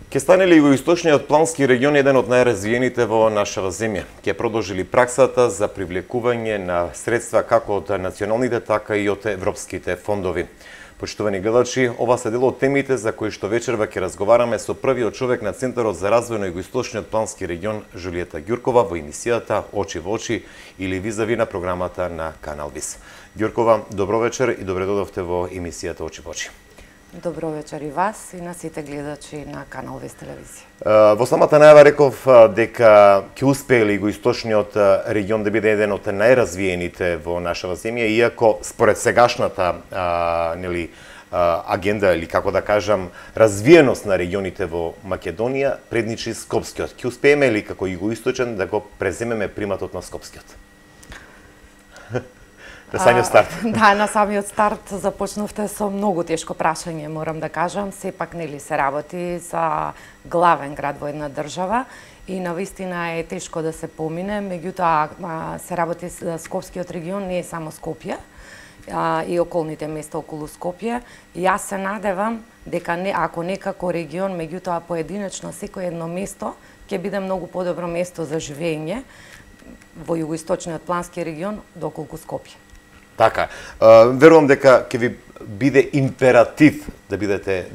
Ке стане ли југоисточниот плански регион еден од најразвиените во нашава земја? Ке продолжи ли праксата за привлекување на средства како од националните, така и од европските фондови? Почитувани гледачи, ова се дел од темите за кои што вечерва ќе разговараме со првиот човек на Центарот за развој на југоисточниот плански регион Жулиета Ѓуркова во емисијата Очи во очи или визави на програмата на Канал Вис. Ѓуркова, добро вечер и добре дојдовте во емисијата Очи во очи. Добро вечер и вас и на сите гледачи на Канал Вис телевизија. Во самата најава реков дека ќе успее ли југоисточниот регион да биде еден од најразвиените во нашава земја, иако според сегашната агенда или како да кажам развиеност на регионите во Македонија предничи Скопскиот. Ќе успееме ли како југоисточен да го преземеме приматот на Скопскиот? На самиот старт. Да, на самиот старт започнавте со многу тешко прашање, морам да кажам. Сепак нели се работи за главен град во една држава и навистина е тешко да се помине, меѓутоа се работи за Скопскиот регион, не е само Скопје и околните места околу Скопје. Јас се надевам дека ако некако регион, меѓутоа поединечно секој едно место ќе биде многу подобро место за живење во југоисточниот плански регион доколку Скопје. Така, верувам дека ќе ви биде императив да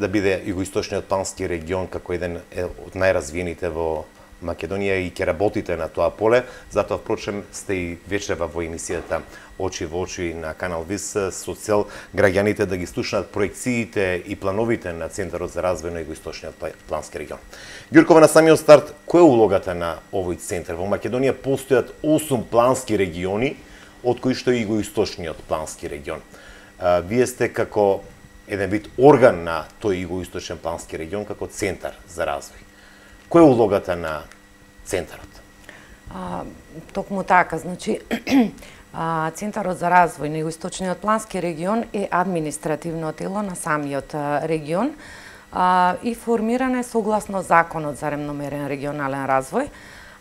биде југоисточниот плански регион како еден од најразвиените во Македонија и ќе работите на тоа поле. Затоа, впрочем, сте и вечерва во емисијата Очи во очи на Канал Вис со цел граѓаните да ги слушнат проекциите и плановите на Центарот за развој на југоисточниот плански регион. Ѓуркова, на самиот старт, која е улогата на овој центар? Во Македонија постојат 8 плански региони, од кои што е југоисточниот плански регион. Вие сте како еден вид орган на тој југоисточен плански регион, како центар за развој. Која е улогата на центарот? Токму така, значи, Центарот за развој на југоисточниот плански регион е административно тело на самиот регион и формиран е согласно Законот за ремномерен регионален развој.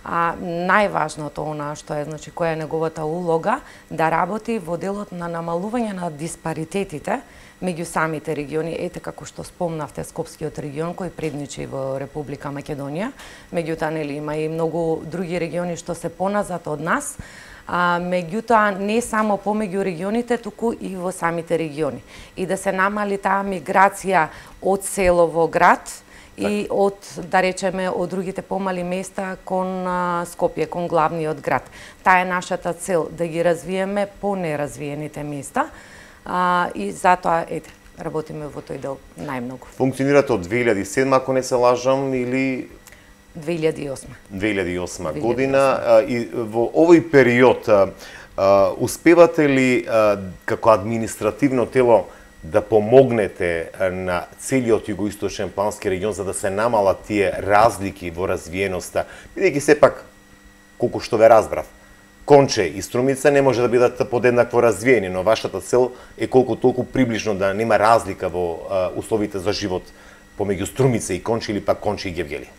Најважното што е, значи, која е неговата улога, да работи во делот на намалување на диспаритетите меѓу самите региони, ете како што спомнавте Скопскиот регион кој предничи во Република Македонија, меѓутоа нели има и многу други региони што се поназад од нас, меѓутоа не само помеѓу регионите, туку и во самите региони. И да се намали таа миграција од село во град, и од, да речеме, од другите помали места кон Скопје, кон главниот град. Таа е нашата цел, да ги развиеме по неразвиените места и затоа, работиме во тој дел најмногу. Функционирате од 2007, ако не се лажам, или 2008. 2008 година. И во овој период успевате ли како административно тело да помогнете на целиот југоисточен плански регион за да се намалат тие разлики во развиеноста, бидејќи сепак, колку што ве разбрав, Конче и Струмица не може да бидат подеднакво развиени, но вашата цел е колку толку приближно да нема разлика во условите за живот помеѓу Струмица и Конче или пак Конче и Гевгели.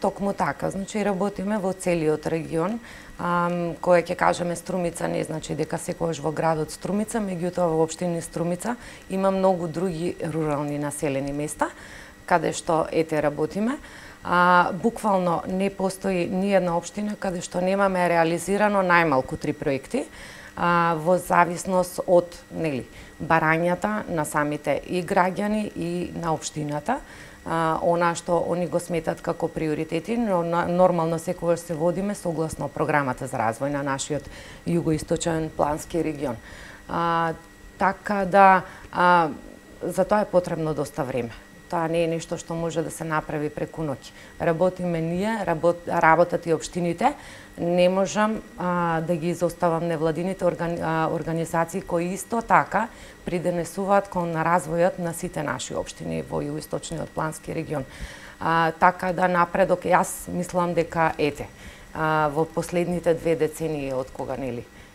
Токму така, значи работиме во целиот регион, која ќе кажеме Струмица не значи дека секогаш во градот Струмица, меѓутоа во општина Струмица има многу други рурални населени места каде што работиме. Буквално не постои ни една општина каде што немаме реализирано најмалку 3 проекти во зависност од барањата на самите и граѓани и на општината. Она што они го сметат како приоритети, но нормално секогаш се водиме согласно програмата за развој на нашиот југоисточен плански регион. Така да за тоа е потребно доста време. Тоа не е нешто што може да се направи преку ноќ. Работиме ние, работат и општините. Не можам да ги изоставам невладините организации кои исто така придонесуваат кон развојот на сите наши општини во југоисточниот плански регион. Така да напредок, јас мислам дека во последните 2 децении од кога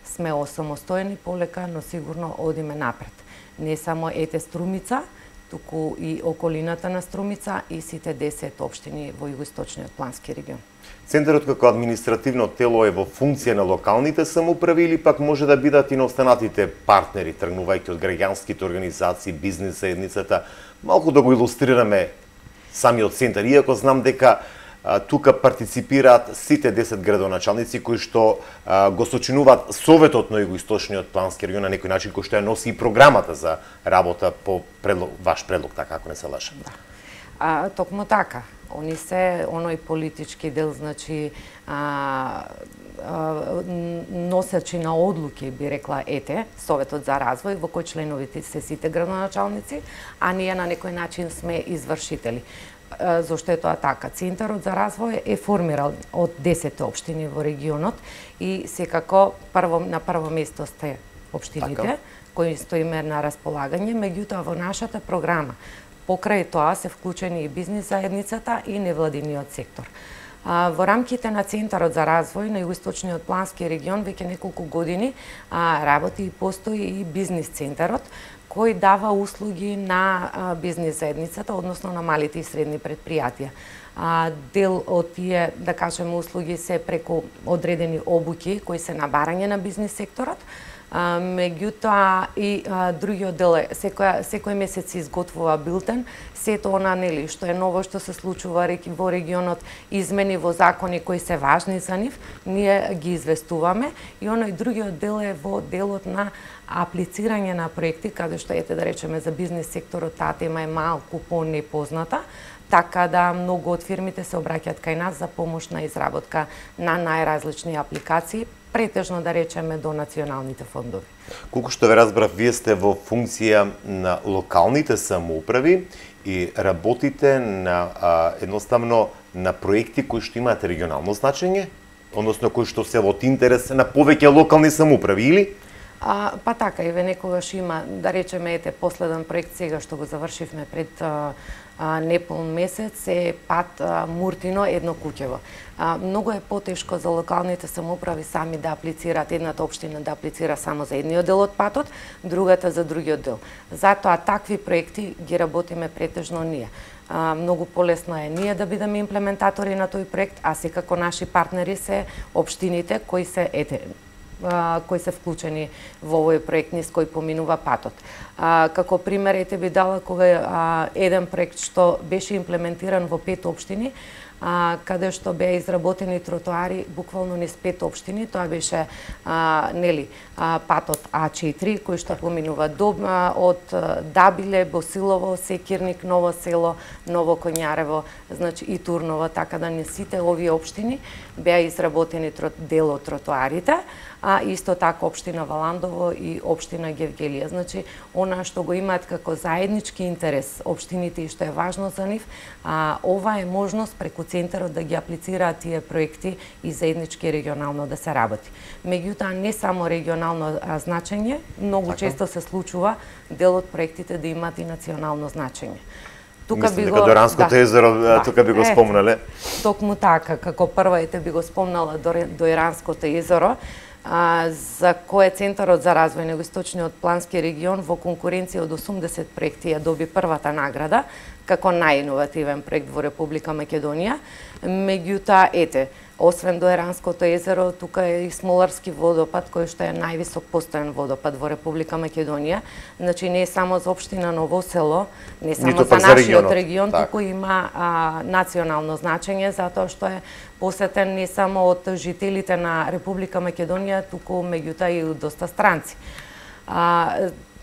сме осамостоени полека, но сигурно одиме напред. Не само Струмица, туку и околината на Струмица и сите 10 општини во југоисточниот плански регион. Центарот како административно тело е во функција на локалните самоуправи или пак може да бидат и на останатите партнери, тргнувајќи од граѓанските организации, бизнес заедницата, малку да го илустрираме самиот центар, иако знам дека тука партиципираат сите 10 градоначалници кои што го сочинуваат Советот на Југоисточниот плански регион на некој начин, кој што ја носи и програмата за работа по ваш предлог, така ако не се лажам. Токму така. Они се оној политички дел, значи носачи на одлуки, би рекла Советот за развој, во кој членовите се сите градоначалници, а ние на некој начин сме извршители. Зошто е тоа така? Центарот за развој е формирал од 10 општини во регионот и секако на прво место сте општините, кои стоиме на располагање, меѓутоа во нашата програма покрај тоа се вклучени и бизнис заедницата и невладиниот сектор. Во рамките на Центарот за развој на Југоисточниот плански регион веќе неколку години работи и постои и бизнис центарот, кој дава услуги на бизнис заедницата, односно на малите и средни предпријатија. Дел од тие, да кажеме, услуги се преку одредени обуки кои се на барање на бизнис секторот, меѓутоа и другиот дел е секој месец изготвува билтен, сето она нели што е ново што се случува во регионот, измени во закони кои се важни за нив, ние ги известуваме и оној другиот дел е во делот на аплицирање на проекти, каде што да речеме за бизнис секторот таа тема е малку понепозната, така да многу од фирмите се обраќаат кај нас за помош на изработка на најразлични апликации, претежно да речеме до националните фондови. Колку што ве разбрав, вие сте во функција на локалните самоуправи и работите на едноставно на проекти кои што имаат регионално значење, односно кои што се од интерес на повеќе локални самоуправи, или? Па така, еве некогаш има, да речеме, последен проект сега што го завршивме пред неполн месец е пат Муртино едно куќево. Многу е потешко за локалните самоуправи сами да аплицираат, едната општина да аплицира само за едниот дел од патот, другата за другиот дел. Затоа такви проекти ги работиме претежно ние. Многу полесно е ние да бидеме имплементатори на тој проект, а секако наши партнери се општините кои се вклучени во овој проект низ кој поминува патот. Како пример би дала кога еден проект што беше имплементиран во 5 општини, каде што беа изработени тротоари буквално низ 5 општини, тоа беше патот А4 кој што поминува од Дабиле, Босилово, Секирник, Ново село, Ново Коњарево, значи и Турново, така да не сите овие општини беа изработени дел од тротоарите, а исто така општина Валандово и општина Гевгелија. Значи, она што го имаат како заеднички интерес општините и што е важно за нив, ова е можност преку центарот да ги аплицираат тие проекти и заеднички регионално да се работи. Меѓутоа, не само регионално значење, многу често се случува дел од проектите да имаат и национално значење. Мислам дека Дојранското езеро, тука би го спомнале. Токму така, како прва би го спомнала Дојранското езеро, за кое Центарот за развој на Југоисточниот плански регион во конкуренција од 80 проекти ја доби првата награда како најиновативен проект во Република Македонија. Меѓутоа, освен Дојранското езеро, тука е и Смоларски водопад, кој што е највисок постојан водопад во Република Македонија. Значи, не е само за општина Ново село, не само за нашиот регион, туку има национално значење, затоа што е посетен не само од жителите на Република Македонија, туку меѓутоа и од доста странци.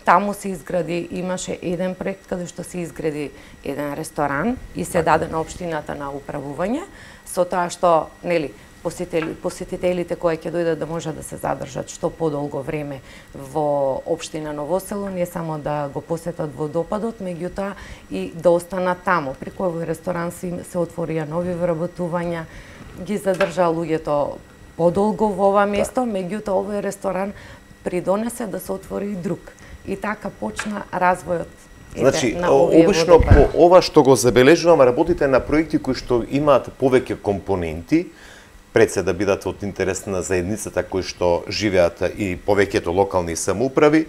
Таму се изгради, имаше еден проект каде што се изгради еден ресторан и се даде на општината на управување, со тоа што, посетителите кои ќе дојдат да можат да се задржат што подолго време во општина Ново село, не само да го посетат водопадот, меѓутоа и да останат таму. Преку овој ресторан се отворија нови вработувања, ги задржаа луѓето подолго во ова место, меѓутоа овој ресторан придонесе да се отвори и друг. И така почна развојот. Значи, обично по ова што го забележувам, работите на проекти кои што имаат повеќе компоненти, пред се да бидат од интерес на заедницата кои што живеат и повеќето локални самоуправи,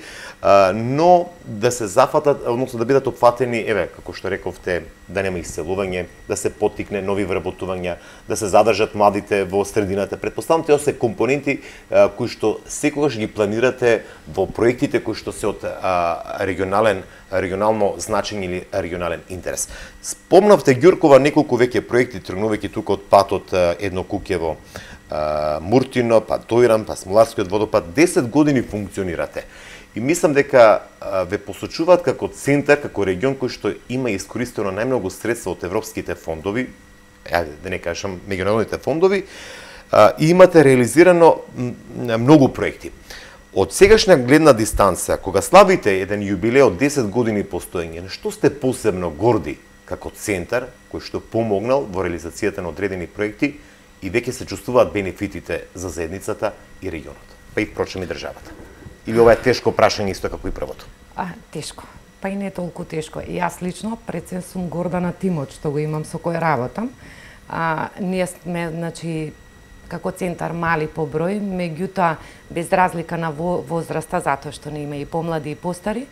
но да се зафатат, односно да бидат опфатени, како што рековте, да нема иселување, да се поттикне нови вработувања, да се задржат младите во средината. Претпоставам, тоа се компоненти кои што секогаш ги планирате во проектите кои што се од регионално значење или регионален интерес. Спомнавте Ѓуркова неколку веќе проекти тргнувајќи тука од патот Едно Куќево, Муртино, па Дојран, па Смоларскиот водопад, 10 години функционирате. И мислам дека ве посочуваат како центар, како регион кој што има искористено најмногу средства од европските фондови, да не кажам меѓународните фондови, и имате реализирано многу проекти. Од сегашна гледна дистанца, кога славите еден јубилеј од 10 години постоење, на што сте посебно горди како центар кој што помогнал во реализацијата на одредени проекти и веќе се чувствуваат бенефитите за заедницата и регионот, па и впрочем и државата? Или ова е тешко прашање исто како и првото? Тешко. Па и не толку тешко. И јас лично пред се сум горда на тимот што го имам со кој работам. Ние сме, значи, како центар мали по број, меѓутоа без разлика на возраста, затоа што не има и помлади и постари,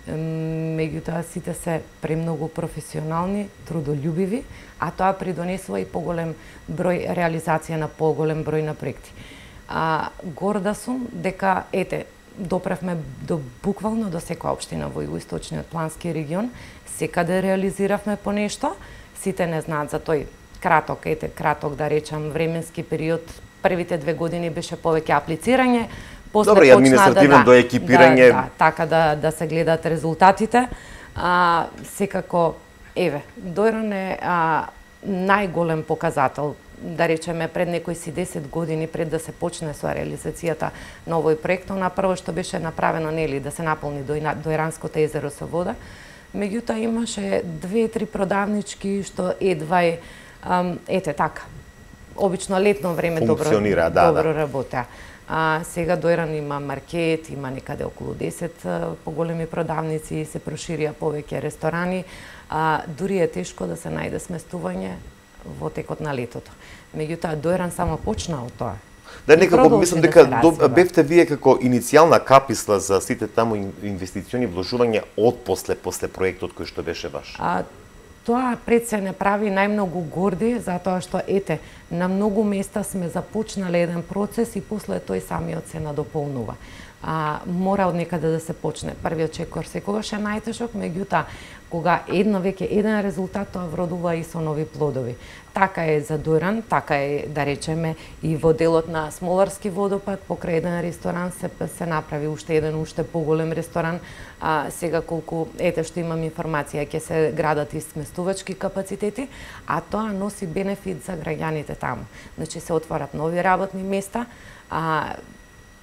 меѓутоа сите се премногу професионални, трудолюбиви, а тоа придонесува и поголем број реализација на поголем број на проекти. Горда сум дека, допревме буквално до секоја општина во Југоисточниот плански регион, секаде реализиравме по нешто, сите не знаат за тој краток да речам временски период. Првите 2 години беше повеќе аплицирање, после почна административно до екипирање, така да се гледат резултатите. Секако Дојран е најголем показател, да речеме пред некои си 10 години пред да се почне со реализацијата на овој проект, на прво што беше направено нели да се наполни Дојранското езеро со вода, меѓутоа имаше 2-3 продавнички што едва така. Обично летно време добро работеа. Сега Дојран има маркет, има некаде околу 10 поголеми продавници, се проширија повеќе ресторани, дури е тешко да се најде сместување во текот на летото. Меѓутоа Дојран само почна од тоа. Да, некако мислам дека бевте вие како иницијална каписла за сите таму инвестициони вложувања од после проектот кој што беше ваш. Тоа пред се не прави најмногу горди, затоа што на многу места сме започнале еден процес и после тој самиот се надополнува. Мора од некаде да се почне. Првиот чекор секогаш е најтешок, меѓутоа кога веќе еден резултат, тоа вродува и со нови плодови. Така е за Дојран, така е, да речеме, и во делот на Смоларски водопад, покрај еден ресторан се направи уште поголем ресторан. Сега колку, што имам информација, ќе се градат и сместувачки капацитети, а тоа носи бенефит за граѓаните таму. Значи се отварат нови работни места,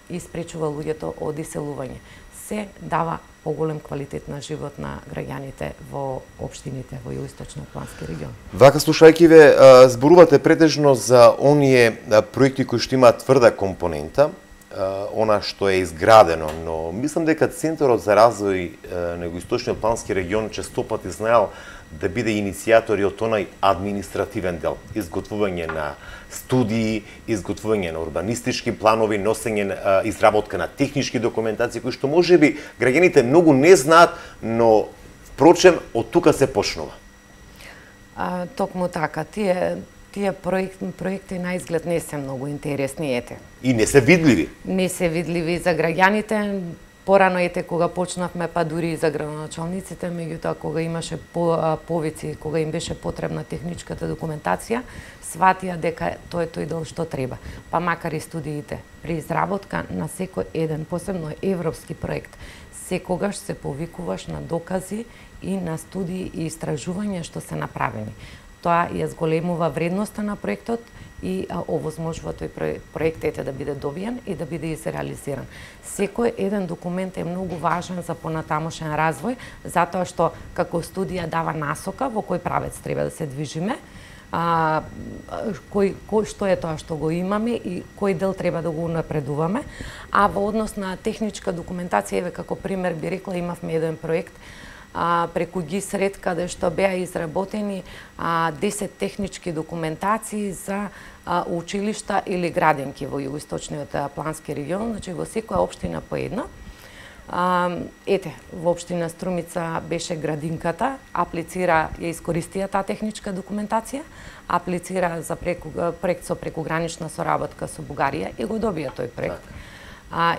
и спречува луѓето од иселување. Се дава поголем квалитет на живот на граѓаните во општините во Југоисточниот плански регион. Вака, слушајќи ве, зборувате претежно за оние проекти кои што имаат тврда компонента, она што е изградено, но мислам дека Центарот за развој на Југоисточниот плански регион честопати знаел да биде иницијатор и од онај административен дел, изготвување на студии, изготвување на урбанистички планови, носење, изработка на технички документации, кои што можеби граѓаните многу не знаат, но впрочем од тука се почнува. Токму така, тие проекти на изглед не се многу интересни, И не се видливи. Не се видливи за граѓаните. Порано кога почнавме, па дури и за градоначалниците, меѓутоа кога имаше повици, кога им беше потребна техничката документација, сватија дека тоа е тој дел што треба. Па макар и студиите, при изработка на секој еден, посебно европски проект, секогаш се повикуваш на докази и на студии и истражувања што се направени. Тоа ја зголемува вредноста на проектот и овозможува тој проект да биде добиен и да биде изреализиран. Секој еден документ е многу важен за понатамошен развој, затоа што како студија дава насока во кој правец треба да се движиме, што е тоа што го имаме и кој дел треба да го унапредуваме. А во однос на техничка документација, како пример би рекла, имавме еден проект преку ГИСРЕД, каде што беа изработени 10 технички документации за училишта или градинки во југоисточниот плански регион, значи во секоја општина по една. Во општина Струмица беше градинката, аплицира, ја искористија таа техничка документација, аплицира за проект со прекугранична соработка со Бугарија и го добија тој проект.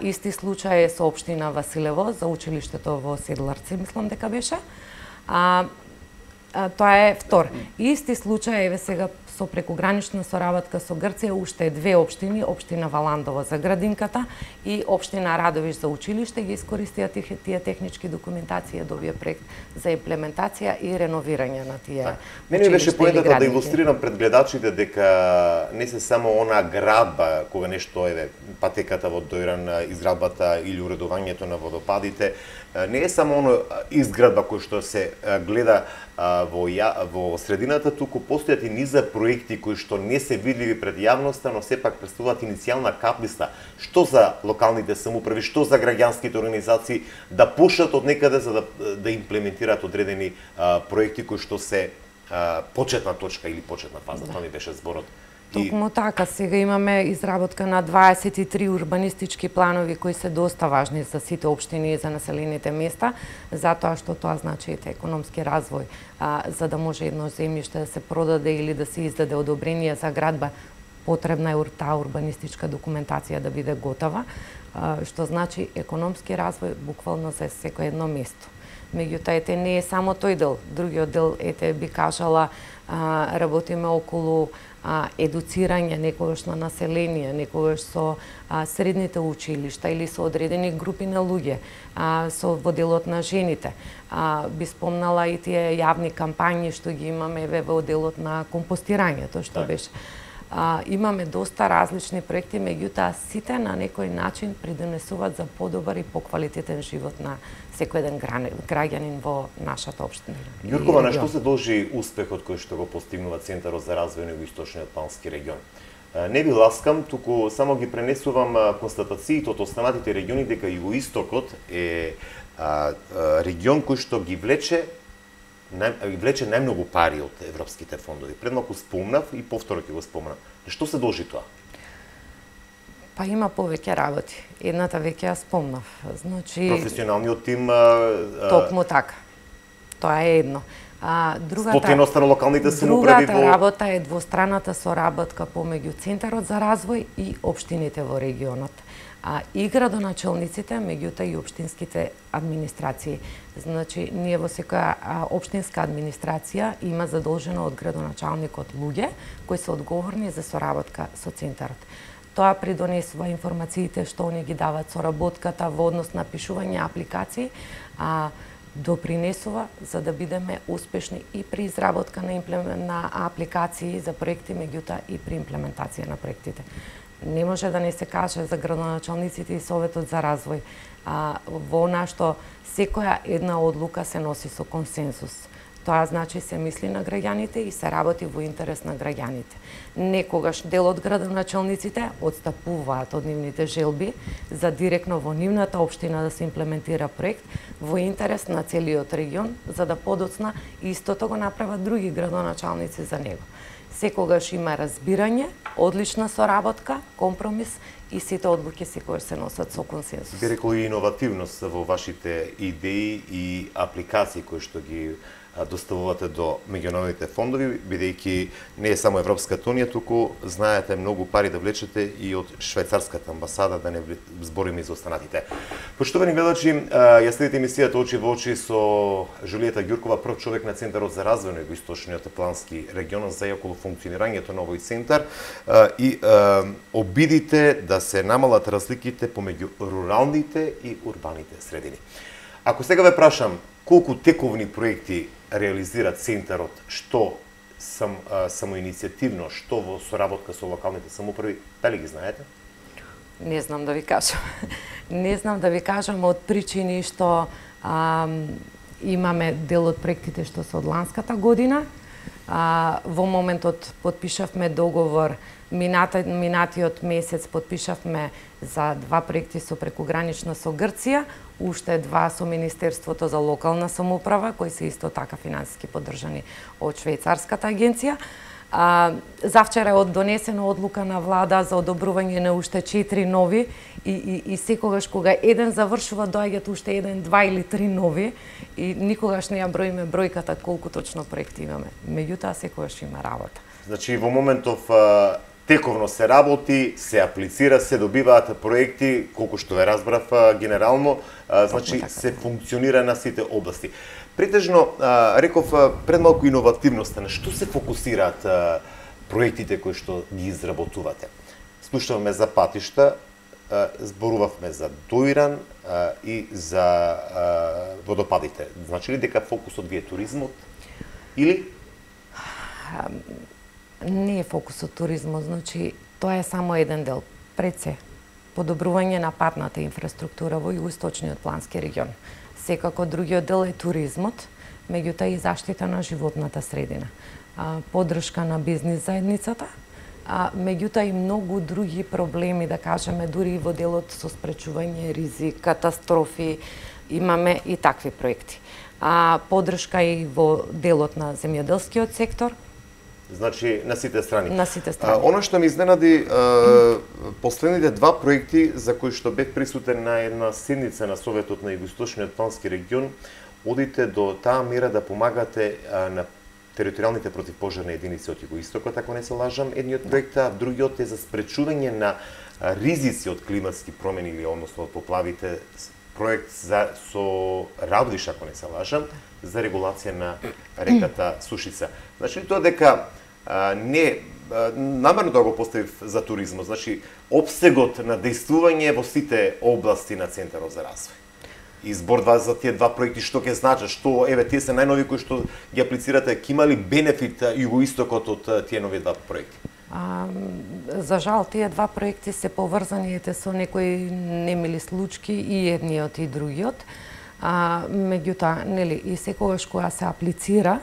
Исти случај е со општина Василево за училиштето во Седларци, мислам дека беше. Тоа е втор. Исти случај е сега со прекугранична соработка со Грција, уште две општини, општина Валандово за градинката и општина Радовиш за училиште, ги искористија тие технички документации, добија проект за имплементација и реновирање на тие. Мене беше поентата да илустрирам пред гледачите дека не се само она градба, кога нешто е патеката во Дојран, изградбата или уредувањето на водопадите, не е само оно изградба кој што се гледа во средината, туку постојат и низа проекти кои што не се видливи пред јавноста, но сепак представуваат иницијална каплиста, што за локалните самоуправи, што за граѓанските организации да пушат од некаде за да имплементираат одредени проекти кои што се почетна точка или почетна фаза. Тоа ми беше зборот. Токму така, сега имаме изработка на 23 урбанистички планови кои се доста важни за сите општини и за населените места, затоа што тоа значи економски развој, за да може едно земјиште да се продаде или да се издаде одобрение за градба, потребна е таа урбанистичка документација да биде готова, што значи економски развој буквално за секој едно место. Меѓутоа, не е само тој дел. Другиот дел, би кажала, работиме околу едуцирање некогаш на население, некогаш со средните училишта или со одредени групи на луѓе, со во делот на жените. Би спомнала и тие јавни кампањи што ги имаме во делот на компостирањето, што беше. Имаме доста различни проекти, меѓутоа сите на некој начин придонесуваат за подобар и поквалитетен живот на секој еден граѓанин во нашата општина. Ѓуркова, на што се должи успехот кој што го постигнува Центарот за развој на Југоисточниот плански регион? Не ви ласкам, туку само ги пренесувам констатациите од останатите региони дека Југоистокот е регион кој што ги влече најмногу пари од европските фондови. Пред малку спомнав и повторно ќе го спомнам. На што се должи тоа? Па има повеќе работи. Едната веќе ја спомнав. Значи професионалниот тим токму така. Тоа е едно. Сплотеноста на локалните самоуправи Другата работа е двостраната соработка помеѓу Центарот за развој и општините во регионот. И градоначалниците, меѓутоа и општинските администрации. Значи, ние во секоја општинска администрација има задолжено од градоначалникот луѓе кои се одговорни за соработка со Центарот. Тоа придонесува информациите што они ги дават соработката во однос на пишување апликации, допринесува за да бидеме успешни и при изработка на апликации за проекти, меѓутоа и при имплементација на проектите. Не може да не се каже за градоначалниците и Советот за развој во она што секоја една одлука се носи со консенсус. Тоа значи се мисли на граѓаните и се работи во интерес на граѓаните. Некогаш дел од градоначалниците отстапуваат од нивните желби за директно во нивната општина да се имплементира проект во интерес на целиот регион, за да подоцна истото го направат други градоначалници за него. Секогаш има разбирање, одлична соработка, компромис и сите одлуки секогаш се носат со консенсус. Би рекол и иновативност во вашите идеи и апликации кои што ги доставувате до меѓународните фондови, бидејќи не е само Европската унија, туку знаете многу пари да влечете и од швајцарската амбасада, да не збориме и за останатите. Почитувани гледачи, ја следите емисијата Очи во очи со Жулиета Ѓуркова, прв човек на Центарот за развој на Југоисточниот плански регион, за околу функционирањето на овој центар и обидите да се намалат разликите помеѓу руралните и урбаните средини. Ако сега ве прашам колку тековни проекти реализира Центарот, што самоиницијативно, што во соработка со локалните самоуправи, дали ги знаете? Не знам да ви кажам. Не знам да ви кажам од причини што имаме дел од проектите што се од ланската година. Во моментот подпишавме договор, минатиот месец подпишавме за 2 проекти со прекугранична со Грција. уште 2 со Министерството за локална самоуправа, кои се исто така финансиски поддржани од швајцарската агенција. Завчера е донесена одлука на влада за одобрување на уште 4 нови и секогаш кога еден завршува доаѓаат уште 1, 2 или 3 нови и никогаш не ја броиме бројката колку точно проекти имаме. Меѓутоа секогаш има работа. Значи во моментов тековно се работи, се аплицира, се добиваат проекти, колку што ве разбрав генерално, значи се функционира на сите области. Претежно, реков пред малку иновативноста, на што се фокусираат проектите кои што ги изработувате? Слушавме за патишта, зборувавме за Доиран и за водопадите. Значи ли дека фокусот ви е туризмот? Или? Не е фокусот туризмот, значи тоа е само еден дел. Пред се, подобрување на патната инфраструктура во југоисточниот плански регион. Секако другиот дел е туризмот, меѓутоа и заштита на животната средина, поддршка на бизнис заедницата, меѓутоа и многу други проблеми, да кажеме, дури и во делот со спречување ризик, катастрофи, имаме и такви проекти. Поддршка и во делот на земјоделскиот сектор. Значи, на сите страни. На сите страни. Оно што ми изненади, последните 2 проекти за кои што бев присутен на една седница на Советот на Југоисточниот плански регион, одите до таа мера да помагате на територијалните противпожарни единици од Југоистокот, ако не се лажам, едниот проект, а другиот е за спречување на ризици од климатски промени или односно од поплавите, проект со Радовиш, ако не се лажам, за регулација на реката Сушица. Значи тоа дека не намерно да го поставив за туризмот, значи опсегот на дејствување во сите области на Центарот за развој. Избор за тие 2 проекти, што ќе значат, што еве тие се најнови кои што ги аплицирате, ќе има ли бенефит Југоистокот од тие нови 2 проекти? За жал, тие 2 проекти се поврзани со некои немили случаи и едниот и другиот. Меѓутоа, нели, и секогаш кога се аплицира,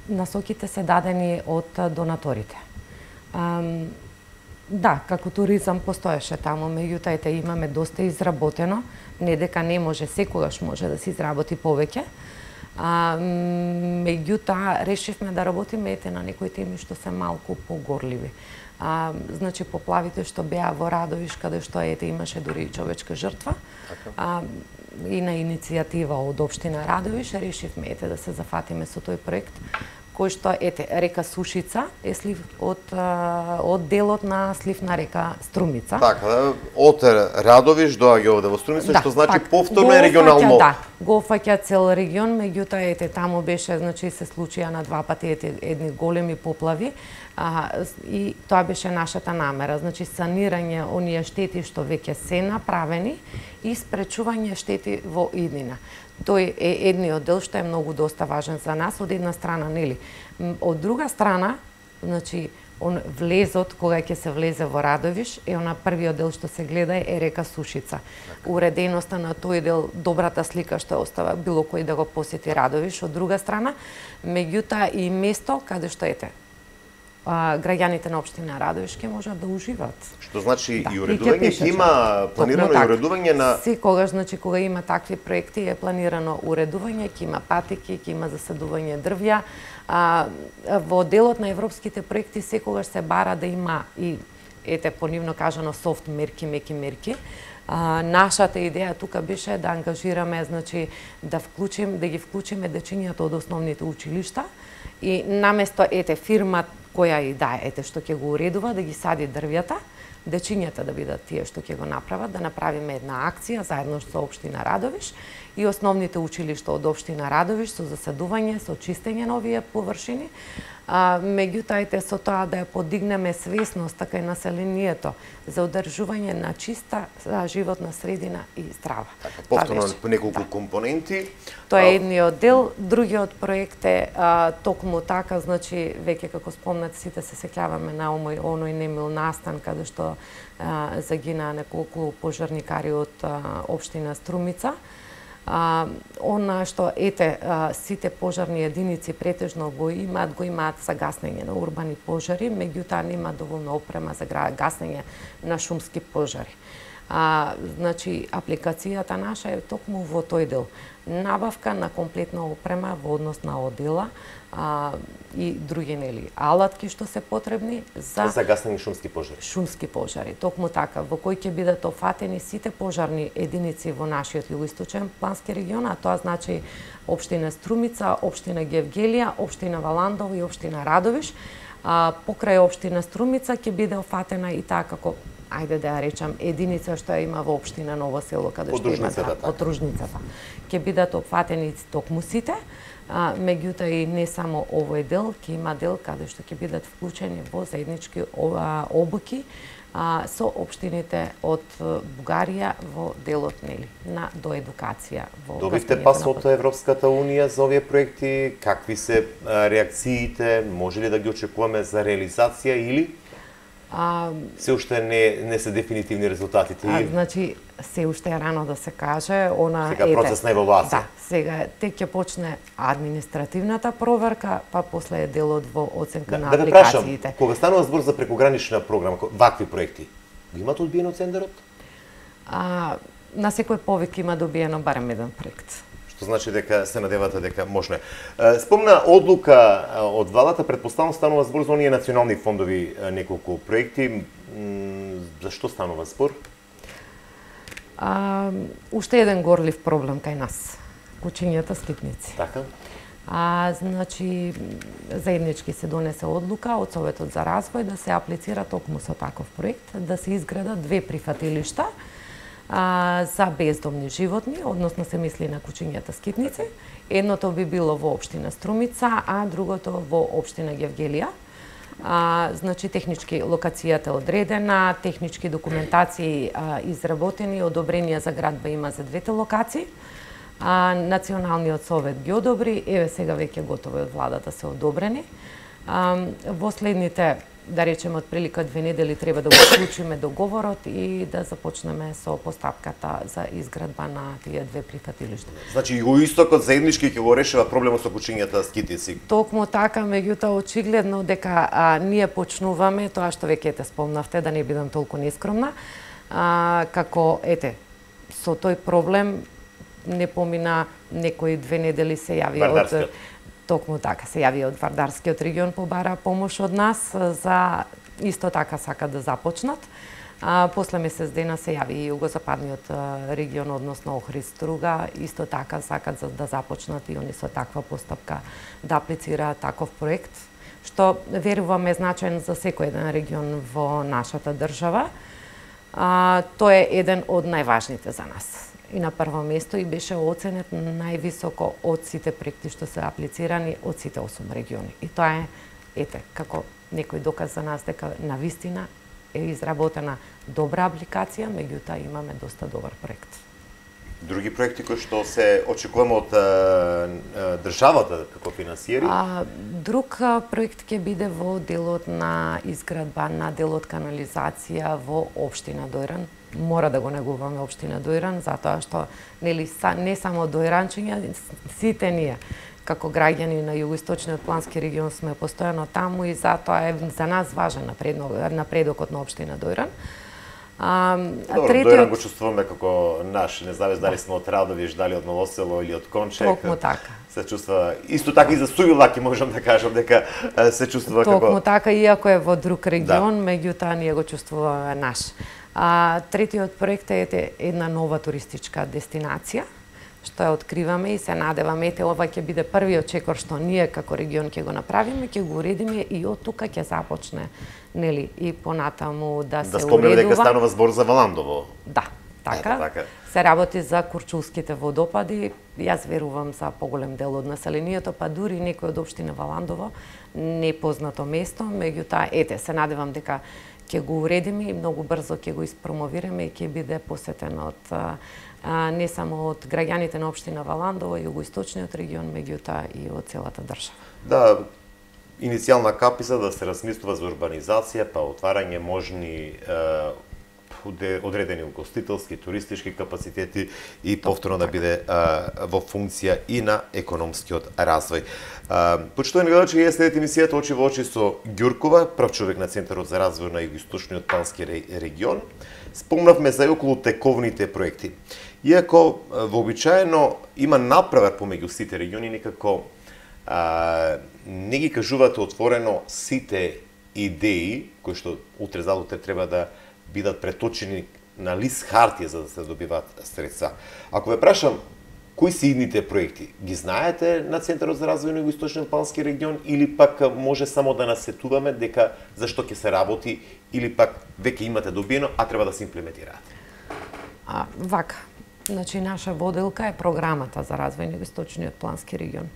насоките се дадени од донаторите. Да, како туризам постоеше таму, меѓутоа имаме доста изработено, не дека не може, секогаш може да се изработи повеќе. Меѓутоа, решивме да работиме на некои теми што се малку погорливи. Значи, поплавите што беа во Радовиш, каде што имаше дури и човечка жртва, и на иницијатива од општина Радовиш, решивме да се зафатиме со тој проект, кој што, река Сушица е слив од делот на слив на река Струмица. Така, од Радовиш доаѓа овде во Струмица, што значи повторно е регионално. Да, го фаќа цел регион, меѓутоа таму беше, значи се случија на 2 пати едни големи поплави, и тоа беше нашата намера, значи санирање оние штети што веќе се направени и спречување штети во иднина. Тој е едниот дел што е многу доста важен за нас, од една страна, нели. Од друга страна, значи, влезот, кога ќе се влезе во Радовиш, она првиот дел што се гледа е река Сушица. Уреденоста на тој дел, добрата слика што остава било кој да го посети Радовиш, од друга страна, меѓутоа и место каде што граѓаните на општина Радовиш ќе можат да уживаат. Што значи и уредување, ќе има планирано и уредување на... Секогаш, значи, кога има такви проекти, е планирано уредување, ќе има патики, ќе има засадување дрвја. Во делот на европските проекти секогаш се бара да има и, понивно кажано, софт мерки, меки мерки. Нашата идеја тука беше да ангажираме, значи, да ги вклучиме дечињата од основните училишта и наместо, фирма која и што ќе го уредува, да ги сади дрвјата, дечињата да бидат тие што ќе го направат, да направиме една акција заедно со општина Радовиш и основните училишта од општина Радовиш со засадување, со чистење на овие површини, меѓутоа со тоа да ја подигнеме свесност така и населението за одржување на чиста животна средина и здрава. Така, повторно по неколку компоненти. Тоа е едниот дел, другиот проект е токму така, значи веќе како спомнат сите се сеќаваме на оној немил настан каде што загина неколку пожарникари од општина Струмица. Она што сите пожарни единици претежно го имаат за гаснење на урбани пожари, меѓутоа нема доволно опрема за гаснење на шумски пожари. Значи, апликацијата наша е токму во тој дел. Набавка на комплетна опрема во однос на одела и други алатки што се потребни за гасење шумски пожари. Шумски пожари, токму така, во кој ќе бидат офатени сите пожарни единици во нашиот југоисточен плански регион, а тоа значи општина Струмица, општина Гевгелија, општина Валандово и општина Радовиш. Покрај општина Струмица ќе биде офатена и таа како, ајде да ја речам, единица што ја има во општина Ново село, каде што има подружницата. Ќе бидат опфатени токму сите, меѓутоа и не само овој дел, ќе има дел каде што ќе бидат вклучени во заеднички обуки со општините од Бугарија во делот на доедукација. Добивте пас од Европската Унија за овие проекти, какви се реакциите, може ли да ги очекуваме за реализација или се уште не се дефинитивни резултатите? Значи, се уште е рано да се каже. Сега процес на евалуација. Да, сега тек ќе почне административната проверка, па после делот во оценка на апликациите. Да прашам, кога станува збор за прекогранична програма, вакви проекти, имате одбиено тендерот? На секој повик има добиено барем еден проект. Што значи дека се надевате дека можно. Спомна одлука од владата, претпоставам станува збор за оние национални фондови неколку проекти. За што станува збор? Уште еден горлив проблем кај нас. Кучињата скитници. Така? Значи, заеднички се донесе одлука од Советот за развој да се аплицира токму со таков проект, да се изградат 2 прифатилишта за бездомни животни, односно се мисли на кучињата скитници. Едното би било во општина Струмица, а другото во општина Гевгелија. Значи, технички локацијата е одредена, технички документации изработени, одобренија за градба има за двете локации. Националниот совет ги одобри, еве сега веќе готови од владата се одобрени. Во следните, да речеме, од прилика 2 недели треба да го вклучиме договорот и да започнеме со постапката за изградба на тие 2 прифатилишта. Значи, југоистокот заеднички ќе го решава проблемот со кучињата скитници. Токму така, меѓутоа очигледно дека ние почнуваме тоа што веќе те спомнавте, да не бидам толку нескромна, како со тој проблем не помина некои 2 недели се јави од токму така се јави од Вардарскиот регион, побара помош од нас за исто така сакат да започнат. После месец дена се јави и југозападниот регион, односно Охрид Струга, исто така сакат да започнат и они со таква постапка да аплицираат таков проект, што веруваме значаен за секој еден регион во нашата држава. Тој е еден од најважните за нас. И на прво место и беше оценет највисоко од сите проекти што се аплицирани од сите 8 региони. И тоа е, како некој доказ за нас дека навистина е изработена добра апликација, меѓутоа имаме доста добар проект. Други проекти кои што се очекуваме од државата како финансиери? Друг проект ќе биде во делот на изградба на делот канализација во општина Дојран. Мора да го негуваме општина Дојран, затоа што не само дојранчиња, сите ние како граѓани на југоисточниот плански регион сме постојано таму и затоа е за нас важен напредокот на општина Дојран. Добро, Дојран го чувствуваме како наш, не знаме дали сме од Радовиш, дали од Ново село или од Кончек. Токму така. Се чувствува исто така и за Сујулаки можам да кажам дека се чувствува како токму така, иако е во друг регион, меѓутоа ние го чувствуваме наш. Третиот проект е една нова туристичка дестинација, што ја откриваме и се надеваме, ова ќе биде првиот чекор што ние како регион ќе го направиме, ќе го уредиме и од тука ќе започне, и понатаму да се уредува. Да спомнеме дека станува збор за Валандово. Да, така. Се работи за Курчулските водопади, јас верувам за поголем дел од населението, па дури некој од општина Валандово, непознато место, меѓутоа, се надевам дека ќе го уредиме и многу брзо ќе го испромовираме и ќе биде посетен од не само од граѓаните на општина Валандово, југоисточниот регион, меѓутоа и од целата држава. Да, иницијална капица да се размислува за урбанизација, па отварање можни одредени угостителски, туристички капацитети и повторно да биде во функција и на економскиот развој. Почитувани гледачи, ја следите емисијата Очи во очи со Ѓуркова, прв човек на Центарот за развој на Југоисточниот плански регион. Спомнавме за околу тековните проекти. Иако вообичаено има напревар помеѓу сите региони, некако не ги кажувате отворено сите идеи кои што утре за утре треба да бидат преточени на лист хартија за да се добиваат средства. Ако ве прашам кои се идните проекти, ги знаете на Центарот за развој на Југоисточниот плански регион или пак може само да насетуваме дека зашто ќе се работи или пак веќе имате добиено, а треба да се имплементираат? Вака, значи наша воделка е програмата за развој на Југоисточниот плански регион.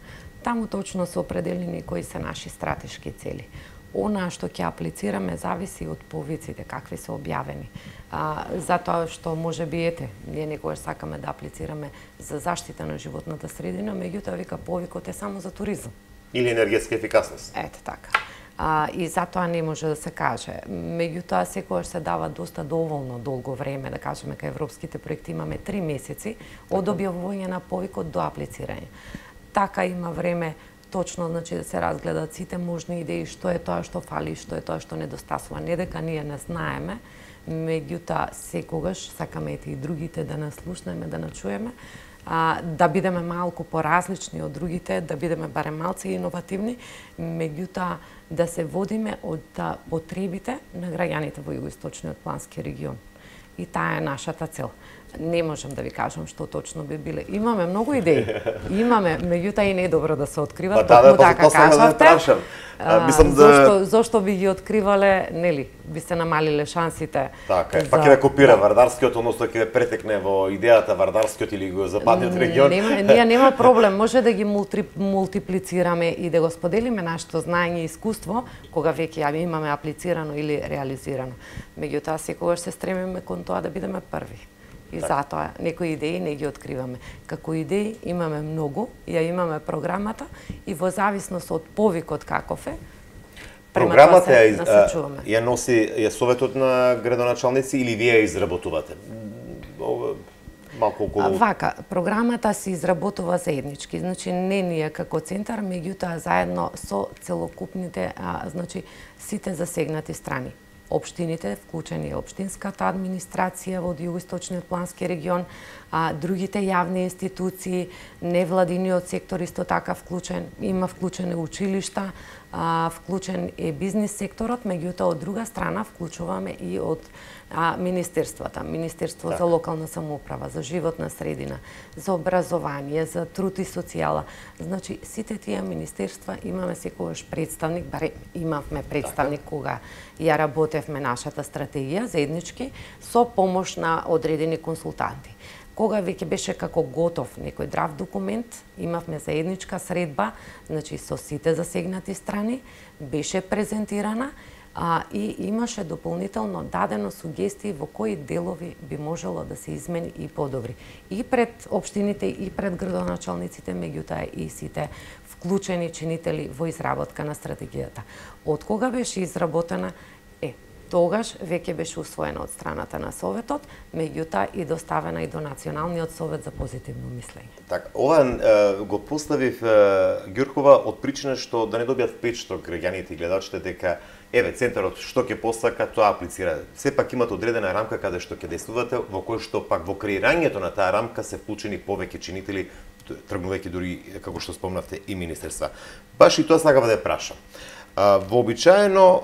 Таму точно се определени кои се наши стратешки цели. Она што ќе аплицираме зависи од повиците какви се објавени. Затоа што може би ние некогаш сакаме да аплицираме за заштита на животната средина, меѓутоа вика повикот е само за туризам. Или енергетска ефикасност. Ете така. И затоа не може да се каже. Меѓутоа секогаш се дава доста доволно долго време, да кажеме кај европските проекти имаме 3 месеци од објавување на повикот до аплицирање. Така има време точно, значи, да се разгледат сите можни идеи, што е тоа што фали, што е тоа што недостасува. Не дека ние не знаеме, меѓутоа секогаш сакаме и другите да нас слушнеме, да начуеме, да бидеме малку поразлични од другите, да бидеме барем малце иновативни, меѓутоа да се водиме од потребите на граѓаните во Југоисточниот плански регион. И таа е нашата цел. Не можам да ви кажам што точно би биле. Имаме многу идеи. Имаме, меѓутоа и не е добро да се откриват, токму така кажавте. Зошто би ги откривале, нели, би се намалиле шансите. Така е, пак ќе да копира Вардарскиот, односно ќе претекне во идејата Вардарскиот или Југозападниот регион. Ние нема проблем, може да ги мултиплицираме и да го споделиме нашето знаење и искуство кога веќе ја имаме аплицирано или реализирано. Меѓутоа секогаш се стремиме кон тоа да бидеме први. И затоа некои идеи не ги откриваме. Како идеи имаме многу, ја имаме програмата и во зависност од повикот каков е, програмата ја носи Советот на градоначалници или вие ја изработувате? Малку околу... Вака, програмата се изработува заеднички, значи не ние како центар, меѓутоа заедно со целокупните, значи сите засегнати страни. Општините, вклучени општинската администрација во Југоисточниот плански регион, другите јавни институции, невладиниот сектор исто така вклучен, има вклучени училишта, вклучен е бизнис секторот, меѓутоа од друга страна вклучуваме и од министерствата, Министерство за локална самоуправа, за животна средина, за образование, за труд и социјала. Значи сите тие министерства имаме секогаш представник, барем имавме представник кога ја работевме нашата стратегија заеднички со помош на одредени консултанти. Кога веќе беше како готов некој здрав документ, имавме заедничка средба, значи со сите засегнати страни, беше презентирана и имаше дополнително дадено сугестии во кои делови би можело да се измени и подобри. И пред општините, и пред градоначалниците, меѓутоа и сите вклучени чинители во изработка на стратегијата. Од кога беше изработена, тогаш веќе беше усвоена од страната на Советот, меѓутоа и доставена и до Националниот совет за позитивно мислење. Така, ова го поставив Ѓуркова од причина што да не добијат впечаток граѓаните и гледачите дека еве центарот што ќе посака, тоа аплицира. Сепак имате одредена рамка каде што ќе действувате, во кој што пак во креирањето на таа рамка се вклучени повеќе чинители, тргнувајќи дури како што спомнавте и министерства. Баш и тоа сакав да ја прашам. Вообичаено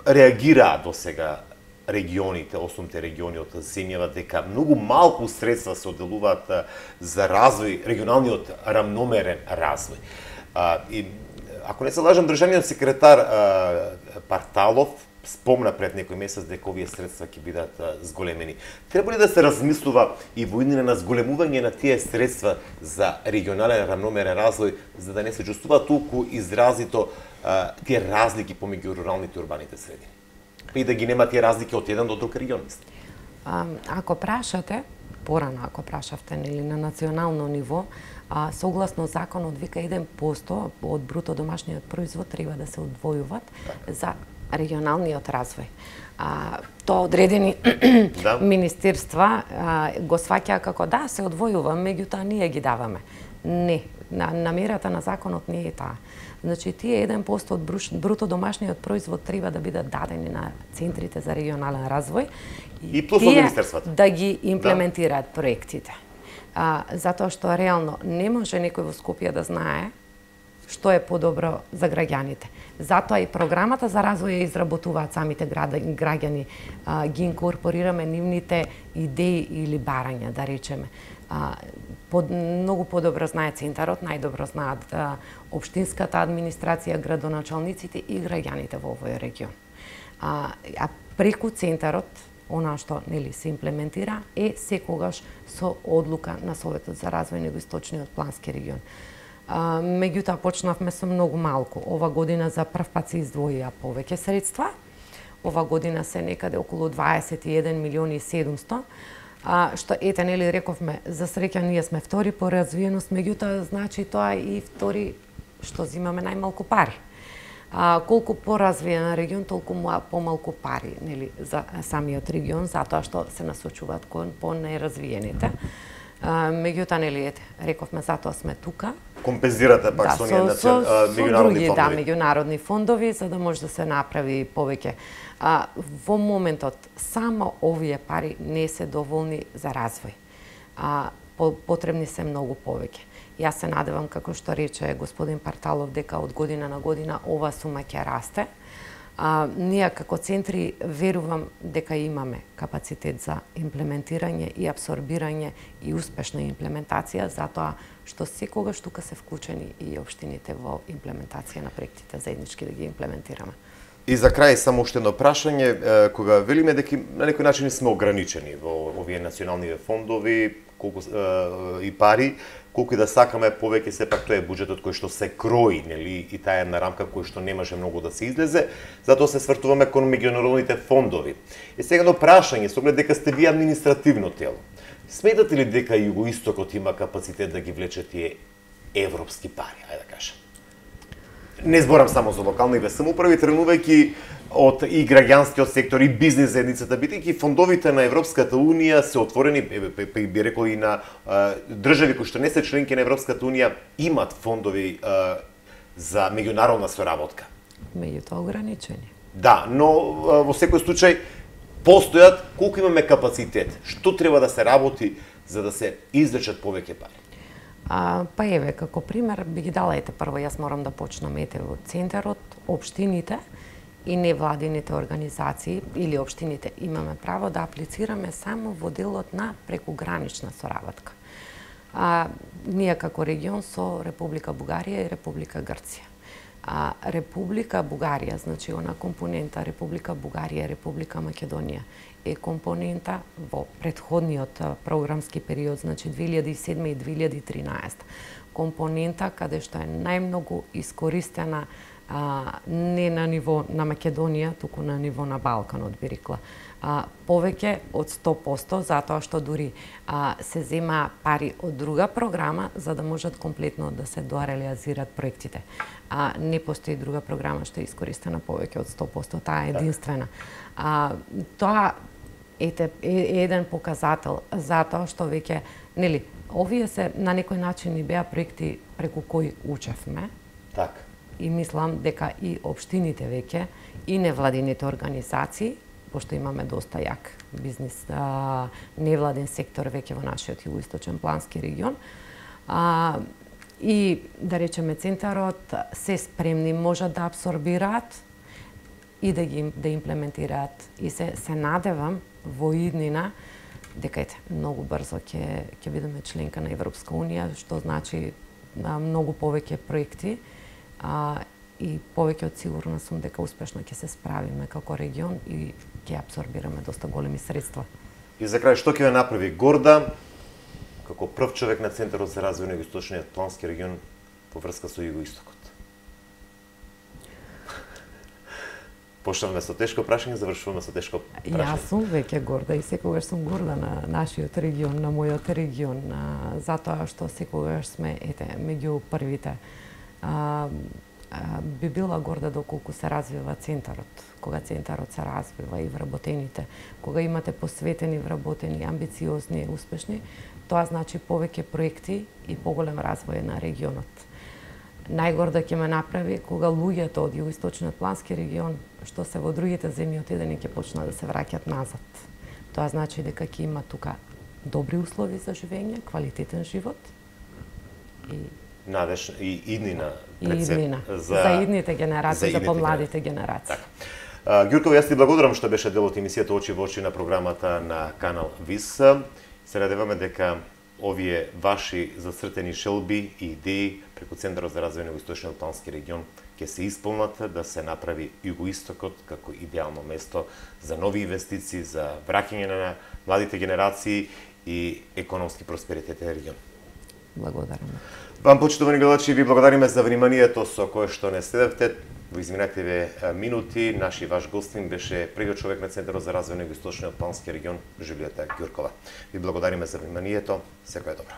реагираа до сега регионите, осумте региони од земјава дека многу малку средства се одделуваат за развој, регионалниот рамномерен развој. И ако не се лажам, државниот секретар Парталов спомна пред некој месец дека овие средства ќе бидат зголемени. Треба ли да се размислува и во иднина на зголемување на тие средства за регионален рамномерен развој, за да не се чувствува толку изразито тие разлики помеѓу руралните и урбаните средини? И да ги нема тие разлики од еден до друг регион, мислам. Ако прашате, порано ако прашавте, нели, на национално ниво, согласно законот вика 1% од бруто домашниот производ треба да се одвојуваат за регионалниот развој. Тоа одредени министерства го сваќаа како се одвојува, меѓутоа ние ги даваме. Не, намерата на законот не е таа. Значи, тие 1% од бруто домашниот производ треба да бидат дадени на центрите за регионален развој и плюс од министерствата да ги имплементираат проектите. Затоа што реално не може некој во Скопје да знае што е подобро за граѓаните. Затоа и програмата за развој ја изработуваат самите граѓани, ги инкорпорираме нивните идеи или барања, да речеме. Многу подобро знае центарот, најдобро знаат општинската администрација, градоначалниците и граѓаните во овој регион. А преку центарот, она што се имплементира е секогаш со одлука на Советот за развој на Југоисточниот плански регион. Меѓутоа почнавме со многу малку. Ова година за прв пат се издвоија повеќе средства. Ова година се некаде околу 21 милиони и 700. Што рековме, за среќа ние сме втори по развиеност, меѓутоа значи тоа и втори што зимаме најмалку пари. Колку поразвиен регион, толку помалку пари, за самиот регион, затоа што се насочуваат кон по-неразвиените. Меѓутоа, рековме, затоа сме тука. Компензирате пак со меѓународни фондови. Меѓународни фондови, за да може да се направи повеќе. Во моментот, само овие пари не се доволни за развој. Потребни се многу повеќе. Јас се надевам, како што рече господин Парталов, дека од година на година ова сума ќе расте. Ние како центри верувам дека имаме капацитет за имплементирање и абсорбирање и успешна имплементација, затоа што секогаш тука се вклучени и општините во имплементација на проектите, заеднички да ги имплементираме. И за крај само уште едно прашање, кога велиме дека на некој начин сме ограничени во овие национални фондови, колку и пари, колку и да сакаме повеќе, сепак тоа е буџетот кој што се крои, и таа една рамка кој што не може многу да се излезе, затоа се свртуваме кон меѓународните фондови. И сега едно прашање, со оглед дека сте вие административно тело. Сметате ли дека Југоистокот има капацитет да ги влече тие европски пари, ајде да кажем? Не зборам само за локалните самоуправи, тренувајќи од и граѓанскиот сектор и бизнис заедницата, бидејќи фондовите на Европската унија се отворени, би рекол и на држави кои што не се членки на Европската унија имат фондови за меѓународна соработка. Меѓутоа ограничени. Да, но во секој случај постојат, колку имаме капацитет, што треба да се работи за да се извлечат повеќе пари? Па еве, како пример, би ги дала прво, јас морам да почнам од центарот, општините и невладините организации или општините имаме право да аплицираме само во делот на прекугранична соработка. Ние како регион со Република Бугарија и Република Грција. Република Бугарија, значи она компонента Република Бугарија и Република Македонија е компонента во претходниот програмски период, значи 2007 и 2013. Компонента каде што е најмногу искористена не на ниво на Македонија, туку на ниво на Балканот, би рекла. Повеќе од 100%, затоа што дури се зема пари од друга програма за да можат комплетно да се дореализираат проектите. Не постои друга програма што е искористена повеќе од 100%, таа е единствена. Тоа е еден показател затоа што веќе, овие се на некој начин и беа проекти преку кои учевме. Така. И мислам дека и општините веќе и невладините организации, пошто имаме доста јак бизнис, невладен сектор веќе во нашиот југоисточен плански регион, и да речеме центарот се спремни можат да абсорбираат и да имплементираат. И се надевам во иднина дека многу брзо ќе бидеме членка на Европска унија, што значи многу повеќе проекти, и повеќе од сигурна сум дека успешно ќе се справиме како регион и ќе абсорбираме доста големи средства. И за крај, што ќе ве направи горда како прв човек на Центарот за развој на Југоисточниот плански регион во врска со Југоистокот? Почнавме со тешко прашање, завршуваме со тешко прашање. Јас сум веќе горда и секогаш сум горда на нашиот регион, на мојот регион, затоа што секогаш сме меѓу првите. би била горда доколку се развива центарот. Кога центарот се развива и вработените, кога имате посветени, вработени, амбициозни и успешни, тоа значи повеќе проекти и поголем развој на регионот. Најгорда ќе ме направи кога луѓето од југоисточниот плански регион, што се во другите земји отидени, ќе почнат да се враќат назад. Тоа значи дека ќе има тука добри услови за живење, квалитетен живот и надеж и иднина за идните генерации, за помладите генерации. Ѓуркова, јас ти благодарам што беше дел од емисијата Очи во очи на програмата на канал ВИС. Се надеваме дека овие ваши зацртени шелби и идеи преку Центарот за развој на Југоисточниот плански регион ќе се исполнат, да се направи Југоистокот како идеално место за нови инвестиции, за враќање на младите генерации и економски просперитет на регион. Благодарам. Вам, почитувани гледачи, ви благодариме за вниманието со кое што не следевте. Во изминативе минути, наши ваш гостин беше првиот човек на Центарот за развој на Југоисточниот плански регион, Жулијата Ѓуркова. Ви благодариме за вниманието. Секое добро.